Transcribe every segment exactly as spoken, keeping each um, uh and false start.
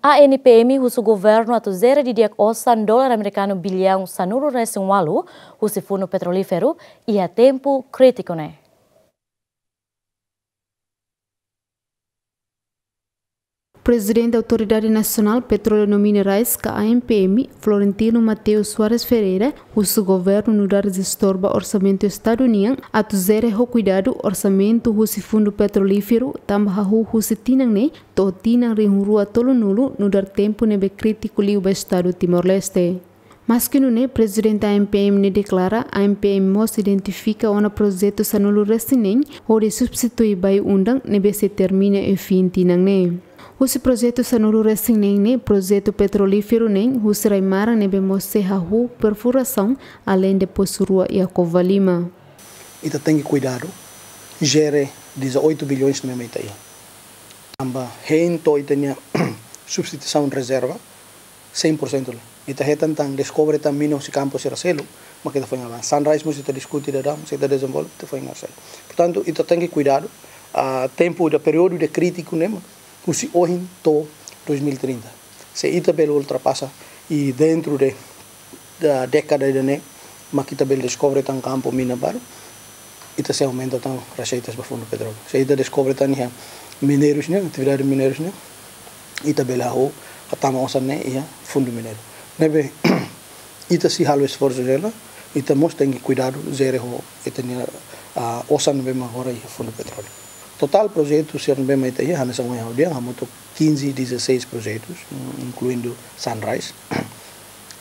ANPM husu governu atu jere didi'ak osan dolar amerikanu biliaun sanulu-resin-ualu husi Fundu Petrolíferu iha tempu krítiku ne'e. Prezidente Autoridade Nasionál Petróleu no Minerais, ka ANPM, Florentino Mateus Soares Ferreira, husu governu nu'udar jestór ba orsamentu Estadu nian atu jere ho kuidadu orsamentu husi Fundu Petrolíferu, tanba hahú husi tinan ne'e to'o tinan rihun rua tolunulu, nu'udar tempu ne'ebé krítiku liu ba Estadu Timor-Leste. Maski nune'e, Prezidente ANPM ne'e deklara, ANPM mós identifika ona projetu sanulu-resin-neen hodi substitui Bayu-Undan ne'ebé sei termina iha fin tinan ne'e. Husi projetu sanulu-resin-neen ne'e, projetu petrolíferu neen husi rai-maran ne'ebé mós sei hahú perfurasaun, aleinde posu rua iha Covalima. Ita tenke kuidadu, jere dezoito bilhões ne'ebé ita iha. Tanba hein to'o ita-nia substituisaun rezerva, cem por cento la. Ita hetan tan, deskobre tan mina husi kampu sira seluk, mak ita foin avansa. Sunrise mós ita diskute daudaun, mós ita dezenvolve, ita foin avansa. Portantu, ita tenke kuidadu, ah, tempu ida, períodu ida krítiku ne'e mak husi ohin to'o dois mil e trinta. Se ita bele ultrapasa i dentro de, da dékada ida-ne'e, mak ita bele deskobre tan kampu mina barak, ita sei aumenta tan reseitas ba Fundu Petróleu. Se ita deskobre tan iha mineirus nian, atividade mineirus nian, ita bele hahú hatama osan ne'e iha Fundu Mineiru. Ne'ebé ita sei halo esforsu jela, ita mós tenke kuidadu jere ho ita-nia, ah, osan ne'ebé mak agora iha Fundu Petróleu. Totál projetu sira ne'ebé mak ita iha, hanesan ohin ha'u dehan, hamutuk quinze, dezasseis projetus, mm, inkluindu Sunrise.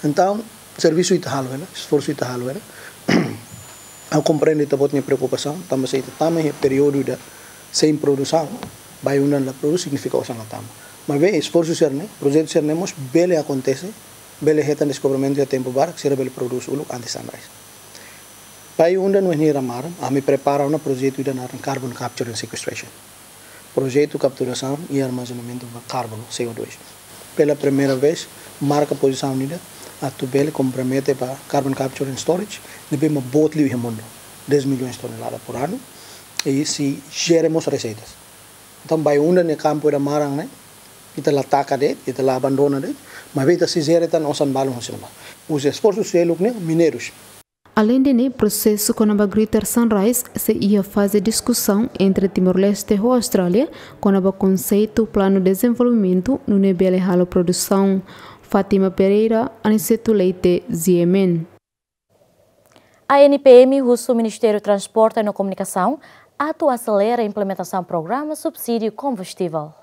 Entaun, servisu ita halo hela, esforsu ita halo hela. Ha'u komprende ita-boot nia preokupasaun, tanba se ita tama iha períodu ida sein produsaun, Bayu-Undan la prodús, signifika osan la tama. Maibé esforsu sira-ne'e, projetu sira-ne'e mós bele akontese, bele hetan deskobrimentu iha tempu badak, sira bele prodús uluk antes Sunrise. Bayu-Undan no Enhira Maran, ami prepara ona projetu ida naran Carbon Capture and Sequestration. Projetu kapturasaun i armazenamentu ba karbonu, C O dois. Pela primeira vez, marka pozisaun ida atu bele kompromete ba carbon capture and storage, ne'ebé mak boot liu iha mundu, dez milhões tonelada por anu, i sei jere mós reseitas. Entaun, Bayu-Undan ne'e kampu ida maran ne'e, ita la taka de'it, ita la abandona de'it, maibé ita sei jere tan osan balun husi ne'ebá. Husi esforsu seluk ne'e, mineirus. Aleinde ne'e, prosesu kona-ba Greater Sunrise sei iha faze diskusaun entre Timor-Leste ho Austrália kona-ba konseitu planu dezenvolvimentu nune'e bele halo produsaun. Fátima Pereira, Aniceto Leite, G M N. ANPM husu Ministériu Transporte no Komunikasaun atu aselera implementasaun programa subsídiu kombustível.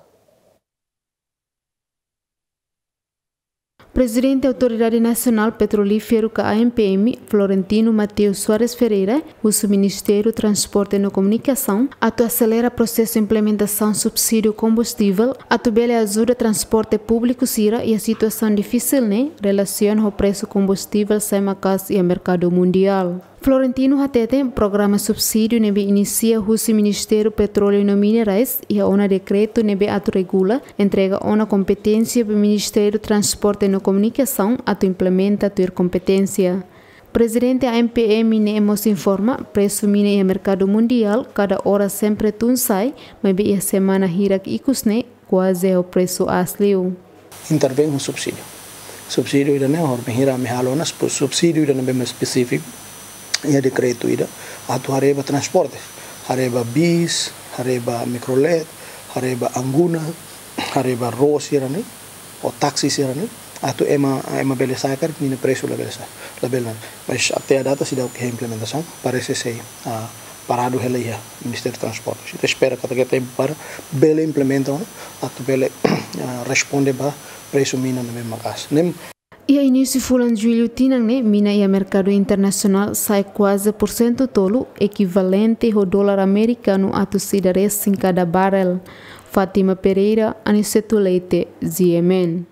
Prezidente Autoridade Nasionál Petrolíferu ka ANPM, Florentino Mateus Soares Ferreira, husu Ministériu Transporte no Komunikasaun atu aselera prosesu implementasaun subsídiu kombustível, atu bele ajuda transporte públiku sira iha situasaun difisil ne'e, relasiona ho presu kombustível sai maka'as iha merkadu mundiál. Florentino hateten, programa subsídiu ne'ebé inisia husi Ministériu Petróleu no Minerais iha ona dekretu ne'ebé atu regula, entrega ona kompeténsia ba Ministériu Transporte no Komunikasaun atu implementa tuir kompeténsia. Prezidente ANPM ne'e mós informa, presu mina iha merkadu mundiál kada ora sempre tun sai, maibé iha semana hirak ikus ne'e kuaze ho presu aas liu. Intervein ho subsídiu. Subsídiu ida-ne'e, horibainhira ami halo ona sub-, subsídiu ida ne'ebé mak espesífiku iha dekretu ida, atu haree ba transporte, haree ba bis, haree ba mikrolet, haree ba anguna, haree ba ró sira-ne'e, ou táksi sira-ne'e, atu ema, ema bele sa'e karik ninia presu labele sa'e, labele. Mas até à data seidauk iha implementasaun, parese sei, ah, paradu hela iha Ministériu Transporte. Ita espera katak iha tempu para bele implementa ona, atu bele, ah, responde ba presu mina ne'ebé maka'as. Ne'e. Iha inísiu fulan Jullu tinan ne'e, mina iha merkadu internasionál sa'e kuaze porsentu tolu, ekivalente ho dolar amerikanu atus ida resin kada barrel. Fátima Pereira, Aniceto Leite, G M N.